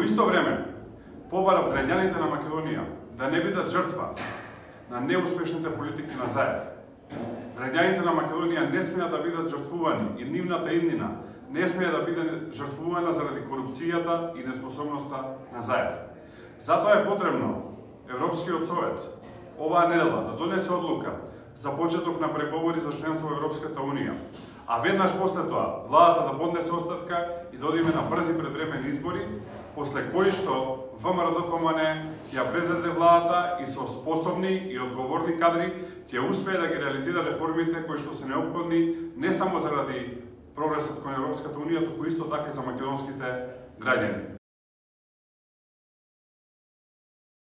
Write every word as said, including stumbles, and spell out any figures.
исто време, побарав граѓаните на Македонија да не бидат жртва на неуспешните политики на Заев. Граѓаните на Македонија не смеат да бидат жртвувани и нивната иднина не смее да биде жртвувана заради корупцијата и неспособноста на Заев. Затоа е потребно Европскиот совет оваа недела да донесе одлука за почеток на преговори за членство во Европската унија, а веднаш после тоа владата да поднесе оставка и да одиме на брзи предвремени избори, после кои што ВМРО-ДПМН ќе ја презеде владата и со способни и одговорни кадри ќе успее да ги реализира реформите кои што се неопходни не само заради прогресот кон Европската унија, туку исто така и за македонските граѓани.